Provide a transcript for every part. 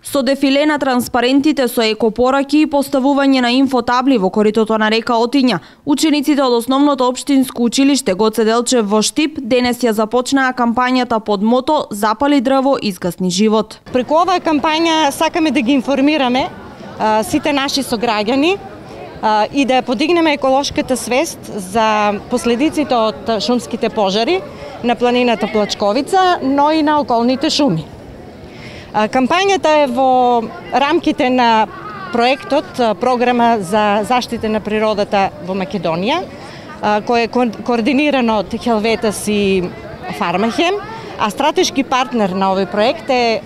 Со дефиле на транспарентите со екопораки и поставување на инфотабли во коритото на река Отиња, учениците од Основното општинско училиште Гоце Делчев во Штип денес ја започнаа кампањата под мото "Запали дрво, изгасни живот". Преку оваа кампања сакаме да ги информираме сите наши сограѓани и да подигнеме еколошката свест за последиците од шумските пожари на планината Плачковица, но и на околните шуми. Кампањата е во рамките на проектот Програма за заштита на природата во Македонија, кој е координиран од Хелветас и Фармахем, а стратешки партнер на овој проект е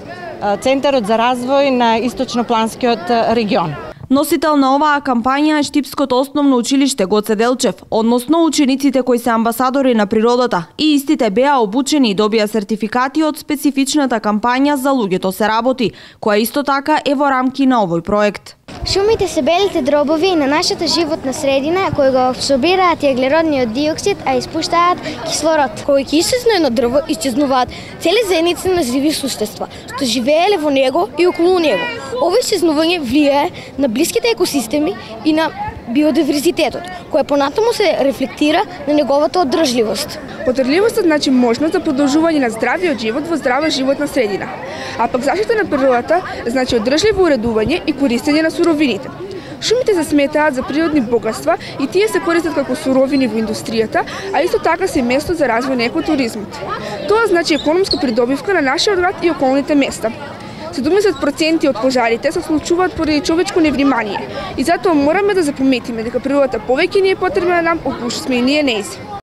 Центарот за развој на Источнопланскиот регион. Носител на оваа кампања е Штипското основно училиште Гоце Делчев, односно учениците кои се амбасадори на природата, и истите беа обучени и добија сертификати од специфичната кампања "За луѓето се работи", која исто така е во рамки на овој проект. Шумите се белите дробови на нашата животна средина кои го абсорбираат јаглеродниот диоксид, а испуштаат кислород. Кога ќе исчезне едно дрво, исчезнуваат цели заедници на живи суштества, што живееле во него и околу него. Ова исчезнување влијае на блиските екосистеми и на биодиверзитетот, кој понатаму се рефлектира на неговата одржливост. Одржливост значи можност за продолжување на здравиот живот во здрава животна средина. А пак заштита на природата значи одржливо уредување и користење на суровините. Шумите се сметаат за природни богатства и тие се користат како суровини во индустријата, а исто така се место за развој на екотуризмот. Тоа значи економска придобивка на нашиот град и околните места. 70% од пожарите се случуваат поради човечко невнимание и затоа мораме да запаметиме дека природата повеќе ни е потребна нам, околу што сме и ние нејзи.